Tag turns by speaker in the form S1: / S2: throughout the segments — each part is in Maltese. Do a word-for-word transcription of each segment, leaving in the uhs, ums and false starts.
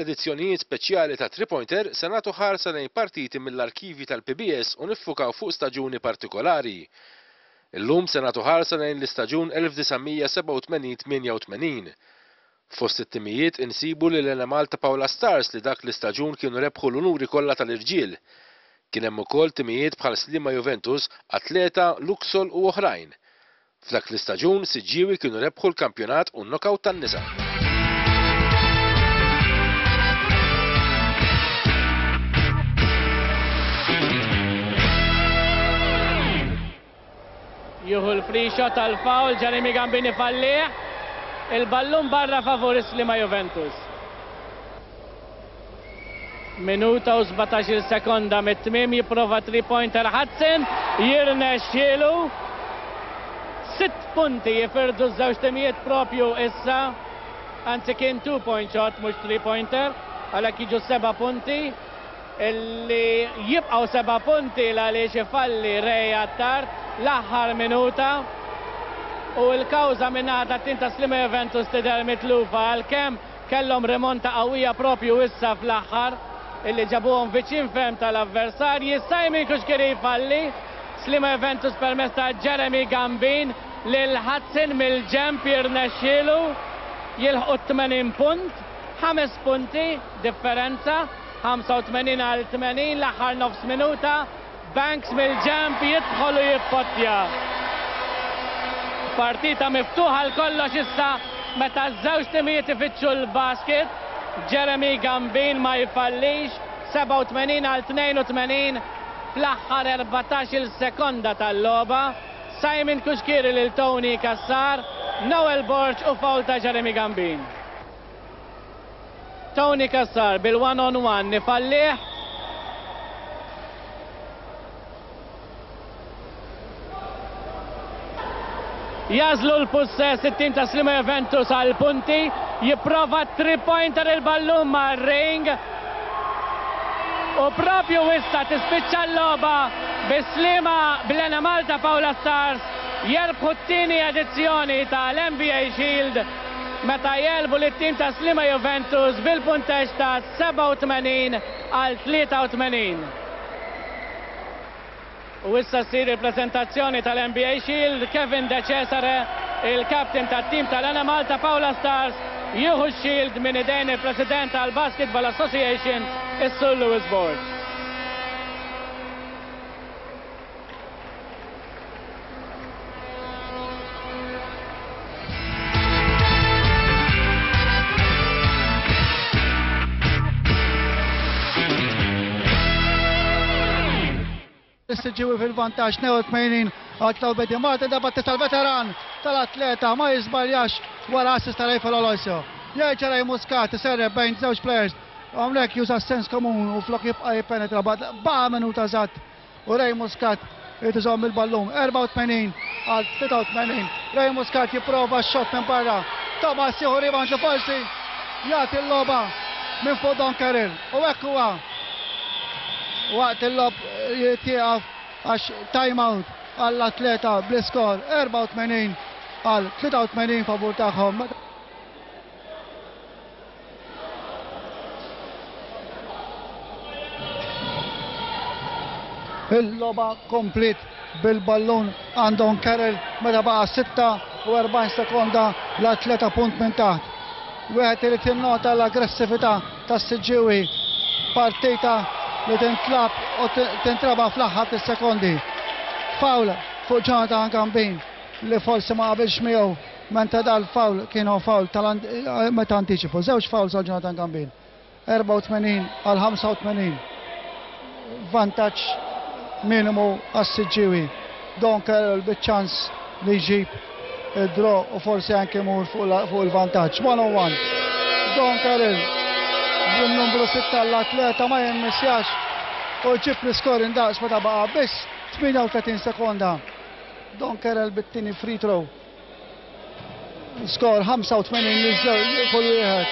S1: l-edizzjonijiet speċjali ta' Three Pointer se nagħtu ħarsa lejn partiti mill-arkivi tal-P B S u niffukaw fuq staġuni partikolari. Illum se nagħtu ħarsa lejn l-istaġun elf disa' mija sebgħa u tmenin tmienja u tmenin. Fost it-timijiet insibu lil Enemalta Paola Stars li dak l-istaġun kienu rebħu l-unuri kollha tal-irġiel. Kien hemm ukoll timijiet bħal Sliema Juventus, Athleta, Luxol u oħrajn. F'dak l-istaġun Siġġiewi kienu rebħu l-kampjonat u n-knockout tan-nisa.
S2: Jieħu l-free shot tal-foul, Jeremy Gambini fallih. Il-ballun barra favur Sliema Juventus. Minuta u sbatax-il sekonda mit-tmiem, jipprova three pointer Hudson, jirnexxielu. Sitt punti jifirdu ż-żewġ timijiet propju issa. Anzi, kien two point shot, mhux three pointer, għalhekk jiġu seba' punti. Illi jibqgħu seba' punti għaliex ifalli Ray Attard l-aħħar minuta. U l-kawża min-naħa tat-tim ta' Sliema Juventus tidher mitlufa, għalkemm kellhom remonta qawwija propju issa fl-aħħar illi ġabuhom viċin ferm tal-avversarji. Simon Cuschieri jfalli. Sliema Juventus permezz ta' Jeremy Gambin lil Hudson mill-ġemp jirnexxielu jilħqu tmenin punt, ħames punti differenza, ħamsa u tmenin għal tmenin, l-aħħar nofs minuta. Banks mill-ġemp jidħol u jippottja. Partita miftuħa għal kollox issa meta ż-żewġ timijiet ifittxu l-basket. Jeremy Gambin ma jfallix, sebgħa u tmenin għal tnejn u tmenin fl-aħħar erbatax-il sekonda tal-logħba. Simon Cuschieri lil Tony Cassar, Noel Borg u foul ta' Jeremy Gambin. Tony Cassar bil-one on one ifallih. Jagħżlu l-pussess it-tim ta' Sliema Juventus għal punti, jipprova three pointer, il-ballun ma' ring. U propju issa tispiċċa l-logħba bi Sliema bl-Enemalta Paola Stars jerbħu t-tieni edizzjoni tal-M B A Shield meta jegħlbu lit-tim ta' Sliema Juventus bil-punteġġ ta' sebgħa u tmenin għal tlieta u tmenin. U issa ssir il-prezentazzjoni tal-M B A Shield. Kevin De Cesare, il-captain tat-tim tal-Enemalta Paola Stars, jieħu x-shield minn idejn il-President tal-Basketball Association, is-Sur Louis Borg.
S3: Is-Siġġiewi fil-vantaġġ tnejn u tmenin għal tlieta u Martin Debattista, tal-veteran tal-Athleta, ma jiżbaljax wara assist ta' Rafael Aloisio. Jerġa' Ray Muscat iserrep bejn żewġ players. Hawnhekk juża sens komun u flok jibqa' jippenetra baqa' minuta eżatt u Ray Muscat irid iżomm il-ballun, erbgħa u tmenin għal tlieta u tmenin. Ray Muscat jipprova x-shot minn barra. Thomas jieħu rebound li forsi jagħti l-logħba minn fuq Don Carroll. U hekk huwa, waqt il-logħob jitieqaf għax time out għall-Athleta bl-iskor erbgħa u tmenin għal tlieta u tmenin favur tagħhom. Il-logħba komplet bil-ballun għand Don Carroll meta baqa' sitta u erbgħin sekonda, l-Athleta punt minn taħt. Wieħed irid jinnota l-aggressività tas-Siġġiewi, partita li tintlab u tintraba fl-aħħar sekondi. Foul fuq Jonathan Gambin li forsi ma qabilx miegħu meta dal-foul kienu foul tal meta antiċipu. Żewġ fouls għal Jonathan Gambin. erbgħa u tmenin għal ħamsa u tmenin. Vantaġġ minimu għas-Siġġiewi. Don Carroll biċ-ċans li jġib id-draw u forsi anke jmur fuq il-vantaġġ. one on one. Don Carroll bil-numru sitta l-Athleta ma jimmissjax u jġib l-iskor indaqs meta baqa' biss tmienja u tletin sekonda. Don Carroll bit-tieni free throw. Skor ħamsa u tmenin kull wieħed.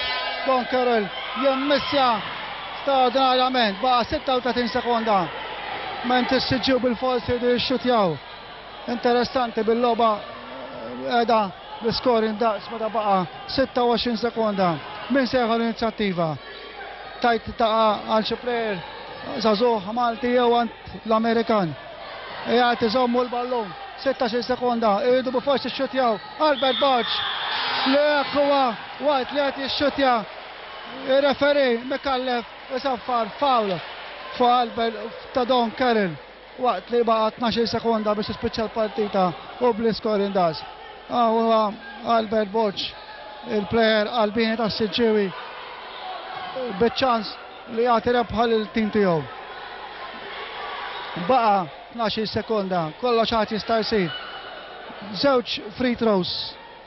S3: Don Carroll jimmissja straordinarjament, baqa' sitta u tletin sekonda. Ment is-Siġġiewi bil-forsi jridu jixxutjaw. Interessanti bil-logħba qiegħda l-iskor indaqs meta baqa' sitta u għoxrin sekonda. Min se jieħu l-inizjattiva? Tajt taqa' għal xi plejer żagħżugħ Malti jew għand l-Amerikan. Qiegħed iżommu l-ballun, sittax-il sekonda, iridu b'forsi xxutjaw. Albert Borg li hekk huwa waqt li qed jixxutja ir-referee Micallef isaffar foul fuq Albert ta' Don Carroll waqt li baqa' tnax-il sekonda biex tispiċċa l-partita u bl-iskor indas. Huwa Albert Borg, il-plejer qalbini tas-Siġġiewi, biċ-ċans li jagħti rebħa lil-tim tiegħu. Baqa' tnax-il sekonda, kollox għad jista' jsir. Żewġ free throws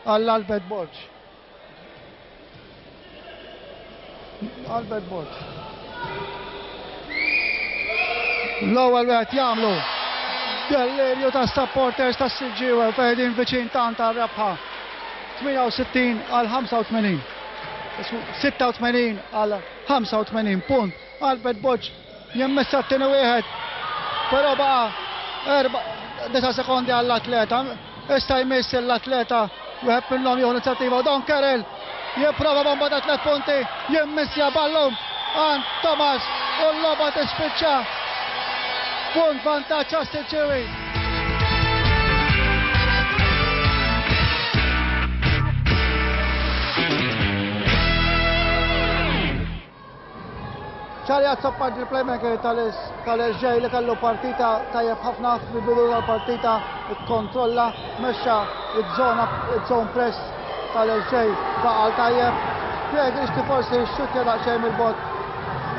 S3: għall Albert Borg. Albert Borg. L-ewwel wieħed jagħmlu delirju ta' supporters tas Siġġiewi fejn viċin tant għar-rebħa. tmienja u sittin għal ħamsa u tmenin. Sitta u tmenin għal ħamsa u tmenin punt. Albert Borg jimmissa t-tieni wieħed, però baqa' erba' disa' sekondi għall-atleta. Issa jmiss l-atleta wieħed minnhom jieħu l-inizjattiva. Don Carroll jipprova bomba ta' tliet punti, jimmissja ballun għand Thomas u l-logħba tispiċċa. Punt vantaġġ għas-Siġġiewi. Charlie Azzopardi, il-playmaker tal-S J li kellu partita tajjeb ħafna fil-bidu tal-partita, ikkontrolla, mexxa iż-żona, iż-zone press tal-S J baqal tajjeb. Pierre Grixti forsi xxuttja daqsxejn mill-bot.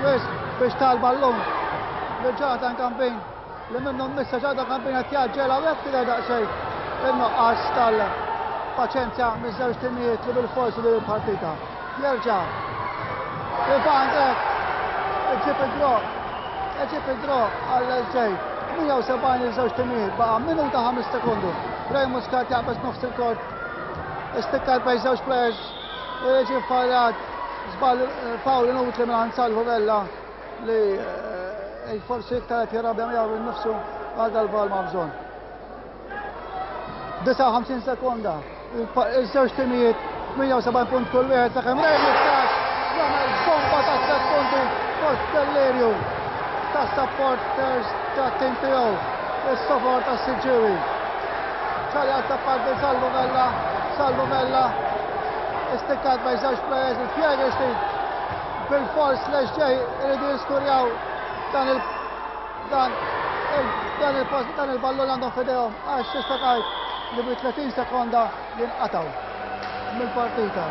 S3: Wisq biex tal-ballun li Jonathan Gambin li minnu missa Jonathan Gambin qed jaġġel hawnhekk tidher daqsxejn in-nuqqas tal-paċenzja miż-żewġ timijiet li bil-forsi li l-partita. Jerġa' Ivan Grech iġib id-draw, iġib id-draw għall-S J. Mija u sebgħin iż-żewġ timijiet, baqa' minuta ħames sekondu. Ray Muscat jaqbeż nofs il-kort, istikkat bejn żewġ players u jiġi fallat żball foul inutli minn Salvu Vella li, eh, forsi iktar qed jirrabja miegħu innifsu għal dal-ball ma' bżonn. Disa' u ħamsin sekonda, iż-żewġ timijiet mija u sebgħin punt kull wieħed sakemm Ray Muscat jagħmel bomba ta' tliet punti fost delirju ta' supporters ta' tim tiegħu, is-sofor ta' Siġġiewi. Charlie Azzopardi, Salvu Vella, Salvu Vella, istikkat bejn żewġ players, il-Pierre Grixti bil-fors l-S J iridu jiskurjaw dan il-, dan il-, dan il-post, dan il-ballun għandhom f'idejhom għax tista' tgħid li bi tletin sekonda jinqatgħu mill-partita.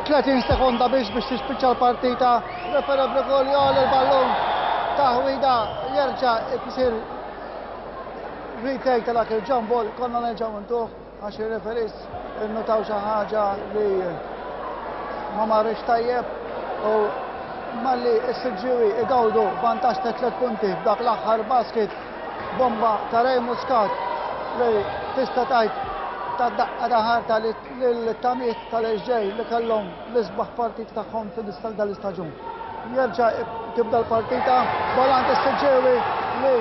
S3: Tletin sekonda biex biex tispiċċa l-partita, refera Brigolio il-ballun taħwida jerġa' jsir retake ta' dak il-jump ball, konna nerġgħu ntuh għax ir-referis innutaw xi ħaġa li ma marrix tajjeb u malli s-Siġġiewi igawdu vantaġġ ta' tliet punti f'dak l-aħħar basket, bomba ta' Ray Muscat li tista' tgħid ta' daqqa ta' ħarta lil-tamiet tal-S J li kellhom l-isbaħ partit tagħhom fil-istal dal-istaġun. Jerġa' tibda l-partita, volant is-Siġġiewi li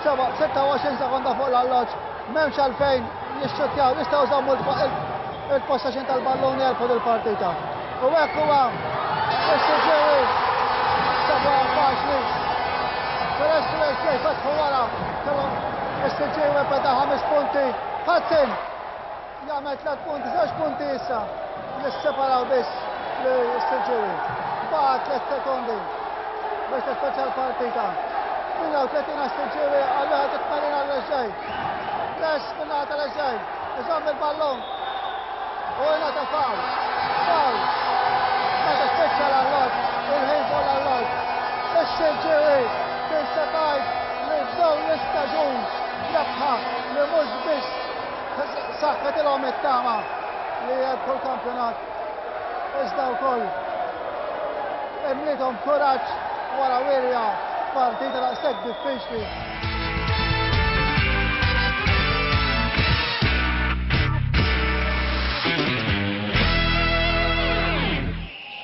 S3: seba', sitta u għoxrin sekonda fuq l-alloġġ, m'hemmx għalfejn jixxuttjaw, jistgħu jżommu il-possession tal-ballun jerbħu dil-partita. U hekk huwa is-Siġġiewi sabuha faċli. Peress li l-S J fetħu wara, kellhom is-Siġġiewi beda ħames punti. Hudson jagħmel tliet punti, żewġ punti issa li sseparaw biss lis-Siġġiewi. Baqa' tliet sekondi biex tispiċċa l-partita. Mija u tletin għas-Siġġiewi għal wieħed u tmenin għall-S J. Press min-naħa tal-S J, iżomm il-ballun u jingħata foul. Foul. Meta spiċċa l-alloġġ, il-ħin fuq l-alloġġ. Is-Siġġiewi tista' tgħid li bdew l-istaġun rebħa li mhux biss saħħetilhom it-tama li jerbħu l-kampjonat, iżda wkoll imliethom kuraġġ wara wirja partita daqshekk diffiċli.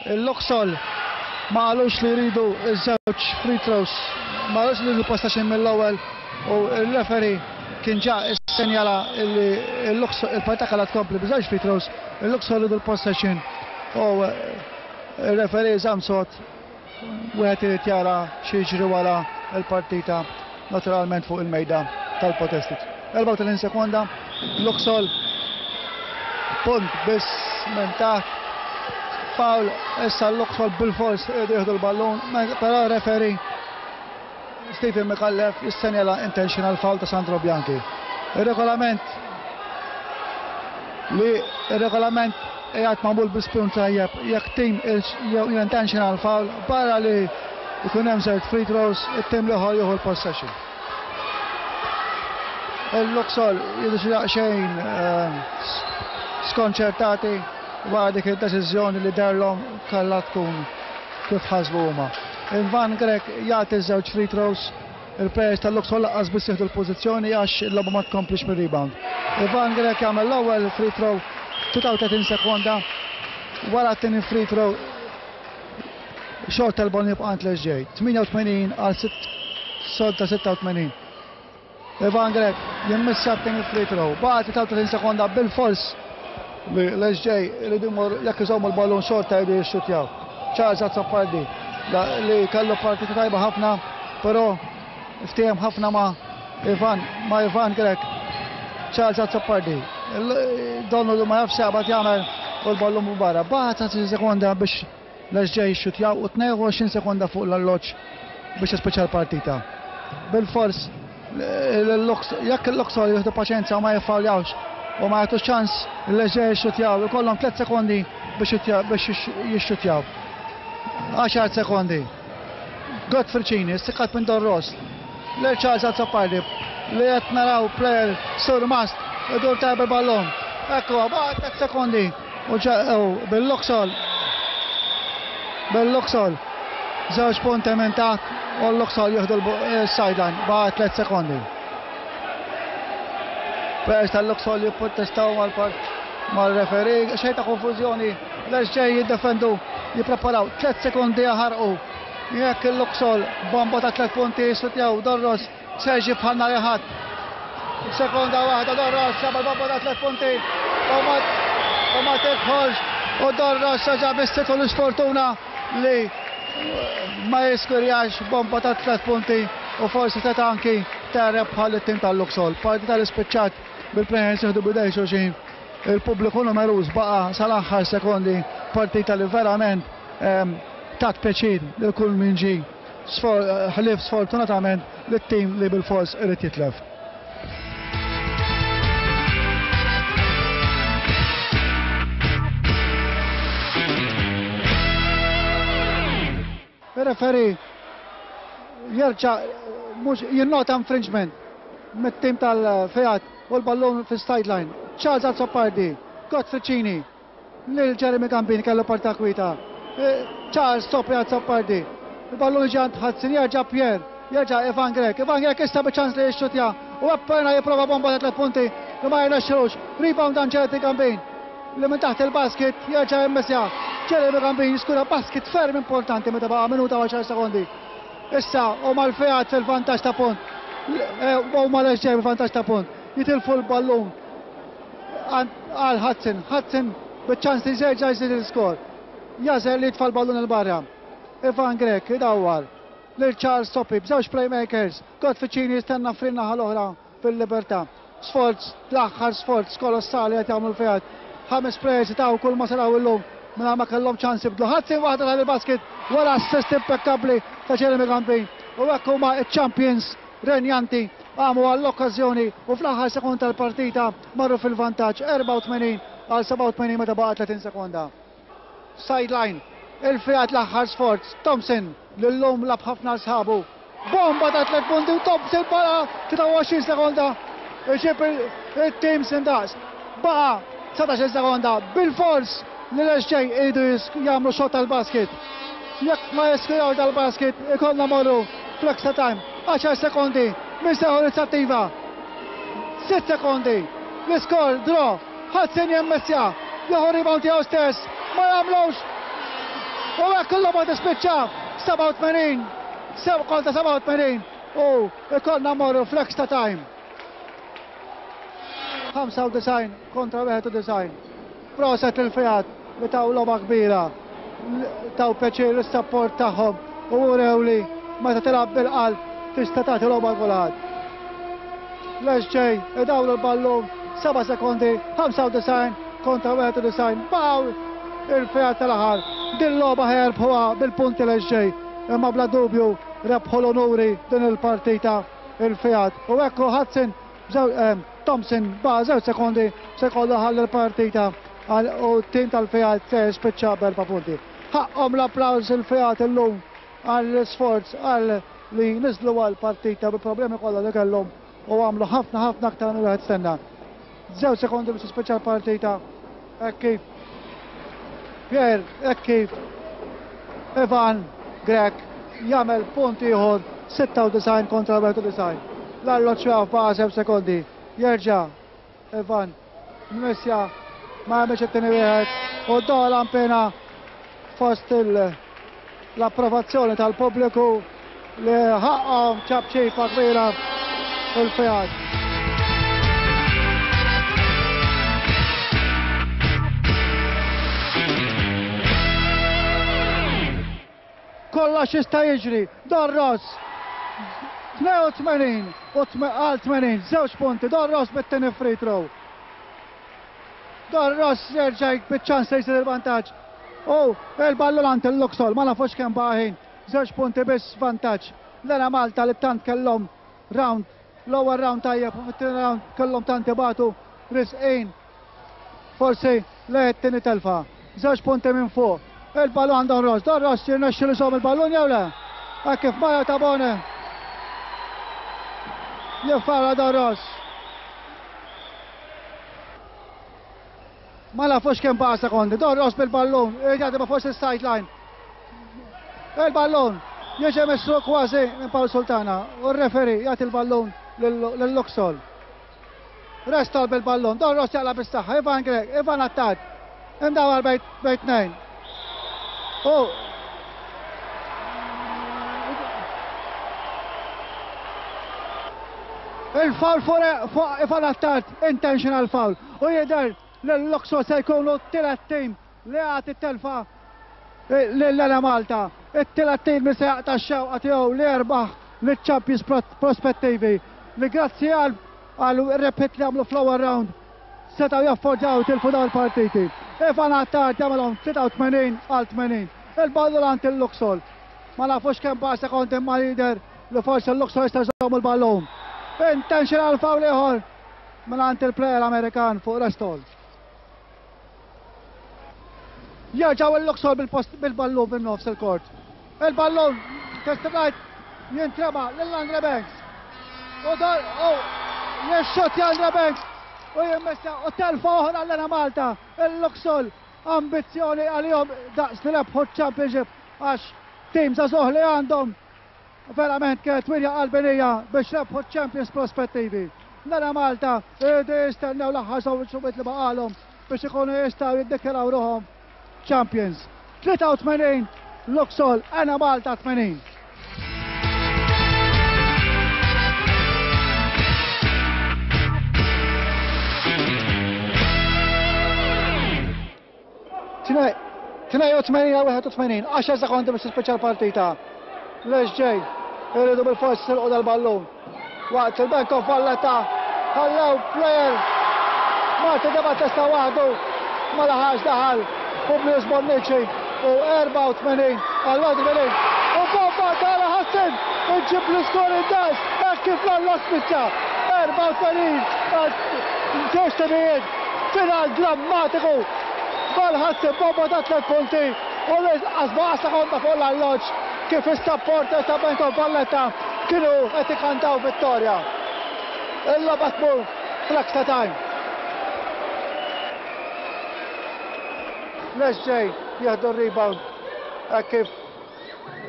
S3: Il-Luxol ma qalux li jridu iż-żewġ free throws ma rridx li l-possession mill-ewwel u il-referee kien ġa issenjala li il-partita kellha tkompli b'żewġ free throws, il-Luxol ridu l-possession u il-referee żamm sod, wieħed irid jara x'jiġri wara l-partita naturalment fuq il-mejda tal-protesti. erbgħa u tletin sekonda, Luxol punt biss minn taħt. Foul, issa Luxol bil-fors jieħdu l-ballun, però referee Stephen Micallef jissenjala intentional foul ta' Sandro Bianchi. Il-regolament li il-regolament qiegħed magħmul bi spun tajjeb, jekk tim intentional foul barra li jkun hemm żewġ free throws, it-tim l-ieħor jieħu l-possession. Il-Luxol jidhru xi daqsxejn skonċertati wara dik id-deċiżjoni li derlhom kellha tkun kif ħasbu huma. Ivan Grech jagħti żewġ free throws, il-players tal-Luxol lanqas biss jieħdu l-pożizzjoni għax il-logħba ma tkomplix mir-rebound. Ivan Grech jagħmel l-ewwel free throw tlieta u tletin sekonda, wara t-tieni free throw xorta l-ballun jibqa' għand l-S J. tmienja u tmenin għal solta sitta u tmenin. Ivan Grech jimmissa t-tieni free throw, baqa' tlieta u tletin sekonda bil-fors li l-S J jridu jmorru, jekk iżommu l-ballun xorta jridu jixxutjaw. Charles Azzopardi li kellu partita tajba ħafna, però ftiehem ħafna ma' Ivan, ma' Ivan Grech. Charles Azzopardi, donnu li ma jafx x'jaqbad jagħmel u l-ballun minn barra. Baqa' tletin sekonda biex l-S J jixxutjaw u tnejn u għoxrin sekonda fuq l-alloġġ biex jispiċċa l-partita. Bil-fors, jekk il-Luxol jieħdu paċenzja u ma jiffawljawx u ma jagħtux ċans l-S J jixxutjaw, ikollhom tliet sekondi biex jitja-, biex jixxutjaw. Għaxar sekondi. Godfrey Cini, istikkat minn Don Ross. Lil Charles Azzopardi li qed naraw player sur mast idur tajb il-ballun. Ekku, baqa' tliet sekondi. U ġa-, u bil-Luxol. Bil-Luxol. Żewġ punti minn taħt u l-Luxol jieħdu l-sideline. Baqa' tliet sekondi. Players tal-Luxol jipprotestaw mal-part mal-referee, xejn ta' konfużjoni, l-S J jiddefendu, jippreparaw tliet sekondi jaħarqu. Jekk il-Luxol bomba ta' tliet punti jistutjaw Don Ross Sergi bħal nhar il-Ħadd. Sekonda waħda Don Ross jagħmel bomba ta' tliet punti u ma, u ma tidħolx u Don Ross reġa' bissitu l-isfortuna li ma jiskurjax bomba ta' tliet punti u forsi seta' anki terreb bħal it-tim tal-Luxol. Partita li spiċċat bil-players jieħdu bidej xulxin. Il-pubbliku numeruż baqa' sal-aħħar sekondi, partita li verament, ehm, tat pjaċir lil kull min ġie sfor-, ħlief sfortunatament lit-tim li bil-fors irid jitlef. Il-referee jerġa' mhux jinnota infringement mit-tim tal-Fiat u l-ballun fis-sideline. Charles Azzopardi, Godfrey Cini, lil Jeremy Gambini kellu parta kwita. Eh, Charles Sopri Azzopardi, il-ballun ġie għand Hudson, jerġa' Pierre, jerġa' Ivan Grech. Ivan Grech issa biċ-ċans li jixxutja u appena jipprova bomba ta' tliet punti li ma jirnexxilux. Rebound għand Jeremy Gambin li minn taħt il-basket jerġa' jimmissja. Jeremy Gambin jiskura basket ferm importanti meta baqa' minuta u għaxar sekondi. Issa huma l-Fiat fil-vantaġġ ta' punt. Eh, huma l-S J fil-vantaġġ ta' punt. Jitilfu l-ballun għal Hudson. Hudson biċ-ċans li jerġa' jżid il-skor. Jażel li jitfa' l-ballun il-barra. Ivan Grech idawwar lil Charles Soppi b'żewġ playmakers. Godfrey Cini jistenna frin-naħa l-oħra fil-libertà. Sforz, l-aħħar sforz kolossali qed jagħmlu l-Fiat. Ħames players taw kull ma saraw illum mingħajr ma kellhom ċans jibdlu. Hudson waħda tal-basket wara assist impeccabli ta' Jeremy Gambin. U hekk huma ċ-champions renjanti għamu għall-okkażjoni u fl-aħħar sekond tal-partita marru fil-vantaġġ erbgħa u tmenin għal sebgħa u tmenin meta baqa' tletin sekonda. Sideline, il-Fiat l-aħħar sforz, Thompson l-lum lab ħafna sħabu. Bomba ta' tliet punti u Thompson baqa' tlieta u għoxrin sekonda iġib il-tim sindaqs. Baqa' dsatax-il sekonda bil-fors li l-S J iridu jis-, jagħmlu xot tal-basket. Jekk ma jiskuraw tal-basket ikollna morru fl-extra time. Għaxar sekondi minn seħu inizjattiva. Sitt sekondi. L-iskor draw. Hudson jemmessja. Jieħu rebound tiegħu stess. Ma jagħmlux. U hekk il-logħba tispiċċa sebgħa u tmenin kontra sebgħa u tmenin u ikollna mmorru fl-extra time. ħamsa u disgħin kontra wieħed u disgħin. Proset il-Fiat li taw logħba kbira, taw pjaċir is-sapport tagħhom u urew li meta tilgħab bil-qalb tista' tagħti logħba kulħadd. L-S J idawlu l-ballun, seba' sekondi, ħamsa u disgħin kontra wieħed u disgħin. Baqgħu il-Fiat tal-aħħar. Din logħba ħerbħuha bil-punti l-S J, imma bla dubju rebħu l-onuri din il-partita il-Fiat. U ekku Hudson, Thompson baqa' żewġ sekondi se jkollu ħalli l-partita u t-tim tal-Fiat se jispiċċa b'erba' punti. Ħaqhom l-applaws il-Fiat illum għall-isforz għal li niżlu għall-partita bi problemi kollha li kellhom u għamlu ħafna ħafna aktar minn wieħed stenna. Żewġ sekondi biex tispiċċa l-partita hekk kif Pierre, hekk kif Ivan Grech jagħmel punt ieħor, sitta u disgħin kontra wieħed u disgħin. L-arloġġ jaf baqa' żewġ sekondi. Jerġa' Ivan Messja ma jagħmilx it-tieni wieħed u dola mpena fost l-approvazzjoni tal-pubbliku li ħaqhom ċapċipa kbira il-Fiat. Kollox jista' jiġri, Don Ross tnejn u tmenin u għal tmenin, żewġ punti, Don Ross bit-tieni free throw. Don Ross jerġa' biċ-ċans li jsir il-vantaġġ. U il-ballun għand il-Luxol, ma nafux kemm baqa' ħin, żewġ punti biss vantaġġ. L-Enemalta li tant kellhom round, l-ewwel round tajjeb u fit-tieni round kellhom tant ibatu risqin. Forsi lejn it-tieni telfa. Żewġ punti minn fuq. Il-ballun għand Don Ross, Don Ross jirnexxilu jżomm il-ballun jew le? Hekk kif Mario Tabone jiffara Don Ross. Ma nafux kemm baqa' sekondi, Don Ross bil-ballun, irid jagħti ma' forsi s-sideline. Il-ballun jiġi misruq kważi minn Paul Sultana u r-referee jagħti l-ballun lil-Luxol. Restol bil-ballun, Don Ross jaqla' bis-saħħa, Ivan Grech, Ivan Attard, imdawar bejn tnejn. U il-foul fuq Ivan Attard, intentional foul. U jidher li l-Luxol se jkunu t-tielet tim li għad it-telfa lill-Enemalta. It-tielet tim li se jaqta' x-xewqa tiegħu li jerbaħ liċ-Champions prospettivi li grazzi għal rebħiet li għamlu fl-ewwel round setgħu jafforġaw tilfu dawn il-partiti. Ivan Attard jagħmelhom tlieta u tmenin għal tmenin. Il-ballun għand il-Luxol. Ma nafux kemm baqa' sekondi imma jidher li forsi l-Luxol jista' jżomm il-ballun. Intentional foul ieħor minn għand il-player Amerikan fuq Restol. Jerġgħu il-Luxol bil-ballun bin-nofs il-kort. Il-ballun test right jintrema lil Andre Banks. U dar, u jixxottja Andre Banks u jimmessa u telfa oħra l-Enemalta. Il-Luxol ambizzjoni għalihom daqs li rebħu ċ-Championship għax tim żagħżugħ li għandhom verament kienet wirja qalbinija biex rebħu ċ-Champions prospettivi. L-Enemalta iridu jistennew l-aħħar żewġ li baqalhom biex ikunu jistgħu jiddikjaraw ruħhom Champions. Tlieta u tmenin Luxol, Enemalta tmenin. Tnejn u tmenin għal wieħed u tmenin, għaxar sekondi biex tispiċċa l-partita. L-S J iridu bil-fors silqu dal-ballun. Waqt il-Bank of Valletta ħallew player Martin De Battista waħdu ma laħax daħal Publius Bonnici u erba' u tmenin għal wieħed u tmenin. U bomba tara Hudson iġib l-iskor id-das hekk kif l-alloq spiċċa. Erba' u tmenin għal żewġ timijiet, final drammatiku. Bal Hudson bomba ta' tliet punti u l-inqas baqa' sekonda fuq l-alloġġ kif is-supporters ta' Bank of Valletta kienu qed ikantaw vittorja. Il-logħba tmur fl-extra time. L-S J jieħdu r-rebound hekk kif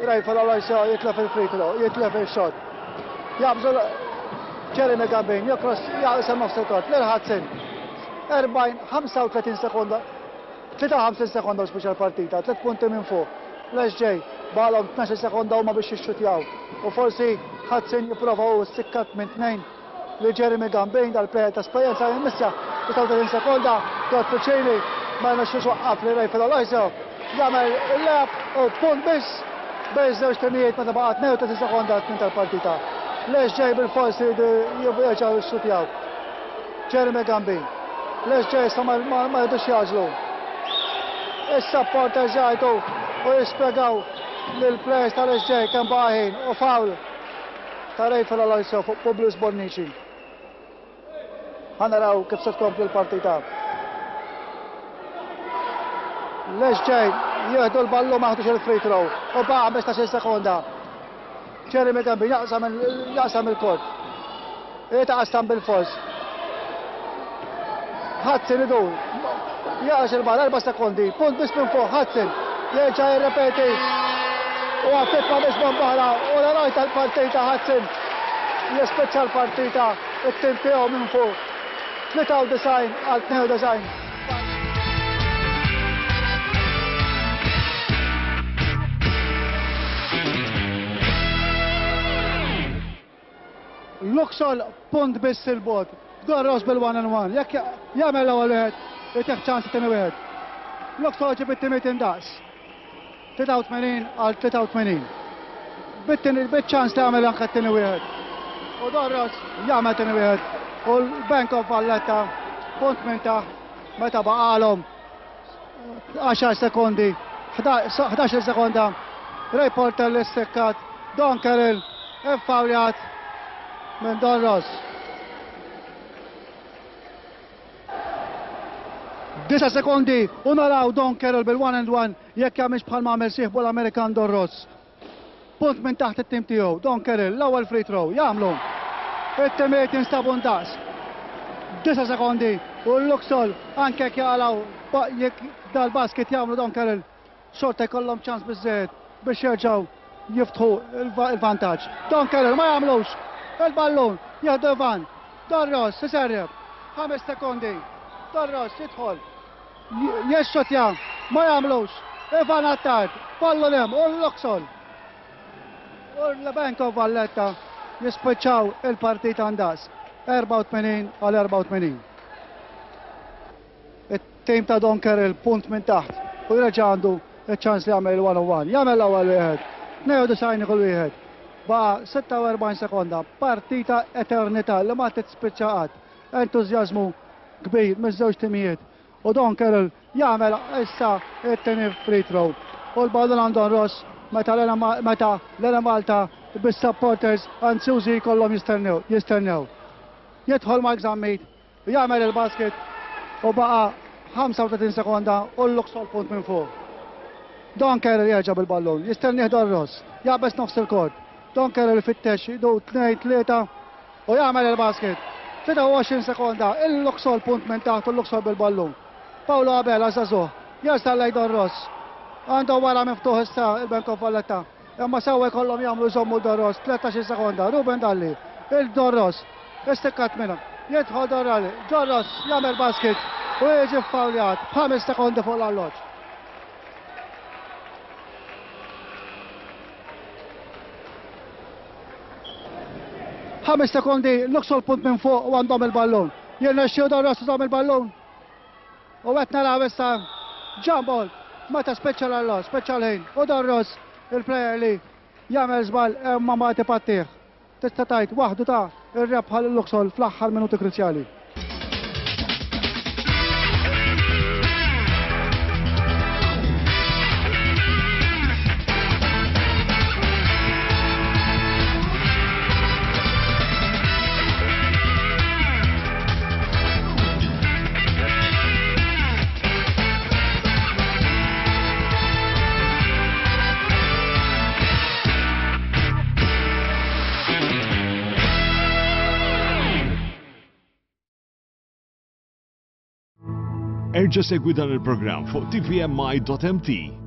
S3: Rayford Aloisio jitlef il-free throw, jitlef il-shot. Jabżu Jeremy Gambin, jokros jaqsam nofs il-kort, lil Hudson. Erbgħin, ħamsa u tletin sekonda, tlieta u ħamsin sekonda u speċjal partita, tliet punti minn fuq. L-S J Baqgħalhom tnax-il sekonda huma biex jixxutjaw. U forsi Hudson jipprova hu ssikkat minn tnejn li Jeremy Gambin, dal-plejer ta' esperjenza, jimmissja. tlieta u tletin sekonda, Godfrey Cini ma jmexxux waqqaf li Rayford Aloisio jagħmel il-layup u punt biss bejn żewġ timijiet meta baqa' tnejn u tletin sekonda tmiem tal-partita. L-S J bil-forsi jerġgħu jixxutjaw. Jeremy Gambin. L-S J issa ma jridux jagħġlu. Is-supporters jgħidu u jispjegaw lill-players tal-S J kemm baqa' ħin u foul ta' Rayford Aloisio fuq Publius Bonnici. Ħa naraw kif se tkompli l-partita. L-S J jieħdu l-ballu, ma ħadux il-free throw u baqa' ħmistax-il sekonda. Jeremy Gambin jaqsam il-kort. Jitaqsam bil-fors. Hudson idur. Jaqax il-ball, erba' sekondi. Punt biss minn fuq Hudson. Jerġa' jirrepeti. U għatitma biex bombaħra u l-eroj tal-partita Hudson jispiċċa l-partita it-tim tiegħu minn fuq. tlieta u disgħin għal tnejn u disgħin. Luxol punt biss il-bogħod. Don Ross bil-one and one. Jekk jagħmel l-ewwel wieħed, jtih ċans it-tieni wieħed. Luxol ġib it-timiet indaqs. tlieta u tmenin għal tlieta u tmenin. Bit-tieni bit-ċans li jagħmel anke t-tieni wieħed. U Don Ross jagħmel tieni wieħed. U l-Bank of Valletta punt minn taħt meta baqalhom għaxar sekondi, ħdax-il sekonda. Ray Porter l-issekkat, Don Carroll iffawljat minn Don Ross. Disa sekondi u naraw Don Carroll bil-one and one jekk jagħmilx bħal ma għamel sieħbu l-Amerikan Don Ross. Punt minn taħt it-tim tiegħu, Don Carroll, l-ewwel free throw, jagħmlu. It-timiet jinstabu ndaqs. Disa sekondi u l-Luxol anke jekk jaqalgħu, jekk dal-basket jagħmlu Don Carroll, xorta jkollhom ċans biżżejjed biex jerġgħu jiftħu il-vantaġġ. Don Carroll ma jagħmlux. Il-ballun jieħdu Ivan. Don Ross iserreb. Ħames sekondi. Don Ross jidħol. Jexxotja, ma jagħmlux. Ivan Attard, ballun hemm u l-Luxol. U l-Bank of Valletta jispiċċaw il-partita ndaqs. erbgħa u tmenin għal erbgħa u tmenin. It-tim ta' Don Carroll punt minn taħt u jerġa' għandu iċ-ċans li jagħmel il-one on one. Jagħmel l-ewwel wieħed. tnejn u disgħin kull wieħed. Baqa' sitta u erbgħin sekonda. Partita eternità li ma tispiċċa qatt. Entużjażmu kbir miż-żewġ timijiet. U Don Carroll jagħmel issa it-tieni free throw. U l-ballun għand Don Ross meta l-Enemalta bis-supporters anzjużi jkollhom jistennew, jistennew. Jidħol Mark Zammit, jagħmel il-basket u baqa' ħamsa u tletin sekonda u l-Luxol punt minn fuq. Don Carroll jerġa' bil-ballun, jistennieh Don Ross, jaqbeż nofs il-kort. Don Carroll ifittex idu tnejn, tlieta u jagħmel il-basket. tlieta u għoxrin sekonda, il-Luxol punt minn taħt u l-Luxol bil-ballun. Paolo Abela żagħżugħ, jersaq lejn Don Ross. Għandu wara miftuħ issa il-Bank of Valletta. Imma sewwa jkollhom jagħmlu jżommu Don Ross, tlettax-il sekonda, Ruben Dalli, il-Don Ross, istikkat minna. Jidħol Don Dalli, Don Ross jagħmel basket u jiġi fawljat b'ħames sekondi fuq l-arloġġ. Ħames sekondi, Luxol punt minn fuq u għandhom il-ballun. Jirnexxiju Don Ross għandhom il-ballun. U qed naraw issa jump ball meta spiċċa l-arloġġ, spiċċa l-ħin. U Don Ross, il-player li jagħmel żball imma ma tipattih. Tista' tgħid waħdu ta' ir-rebħa lil Luxol fl-aħħar minuti kruċjali.
S4: Erġa' segwi dan il-programm fuq T V M I dot M T.